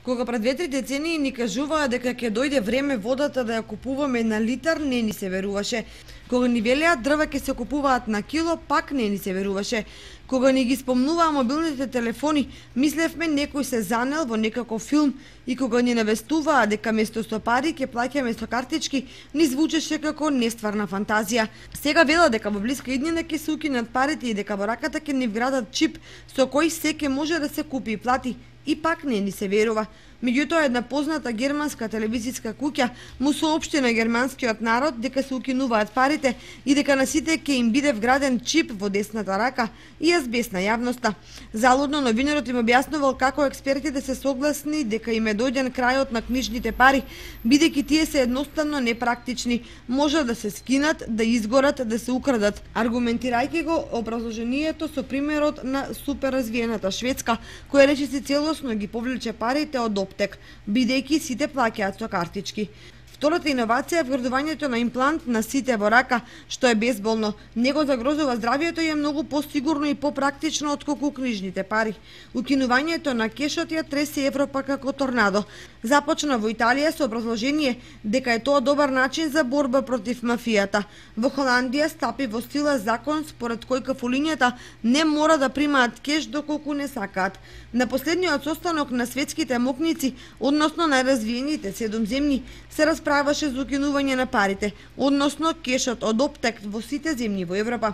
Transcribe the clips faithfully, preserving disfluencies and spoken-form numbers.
Кога пред две-три децении ни кажуваа дека ќе дојде време водата да ја купуваме на литар, не ни се веруваше. Кога ни велеа дрва ќе се купуваат на кило, пак не ни се веруваше. Кога ни ги спомнуваа мобилните телефони, мислевме некој се занел во некаков филм, и кога ни навестуваа дека место со пари ќе плаќаме со картички, ни звучеше како нестварна фантазија. Сега велат дека во блиска иднина ќе се укинат парите и дека во раката ќе ни вградат чип со кој се ќе може да се купи и плати. И пак не ни се верува. Меѓутоа, една позната германска телевизиска куќа му соопшти на германскиот народ дека се укинуваат парите и дека на сите ќе им биде вграден чип во десната рака, и ја збесна јавноста. Залудно новинарот им објаснувал како експертите се согласни дека им е дојден крајот на книжните пари, бидејќи тие се едноставно непрактични, може да се скинат, да изгорат, да се украдат, аргументирајќи го образложението со примерот на суперразвиената Шведска, која речиси целосно ги повлече парите од оптек, бидејќи сите плаќаат со картички. Втората иновација е вградувањето на имплант на сите во рака, што е безболно. Не го загрозува здравието и е многу посигурно и попрактично отколку книжните пари. Укинувањето на кешот ја тресе Европа како торнадо. Започна во Италија со образложение дека е тоа добар начин за борба против мафијата. Во Холандија стапи во сила закон според кој кафулињата не мора да примаат кеш доколку не сакаат. На последниот состанок на светските мокници, односно најразвиените седум земји, се расправаше за укинување на парите, односно кешот од оптек во сите земји во Европа.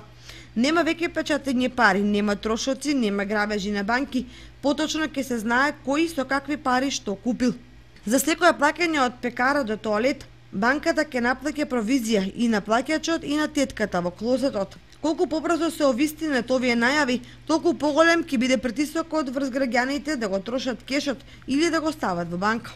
Нема веќе печатење пари, нема трошоци, нема грабежи на банки, поточно ќе се знае кој со какви пари што купил. За секое плаќање од пекара до тоалет, банката ќе наплаќа провизија и на плаќачот и на тетката во клозетот. Колку побрзо се овистинат овие најави, толку поголем ќе биде притисокот врз граѓаните да го трошат кешот или да го стават во банка.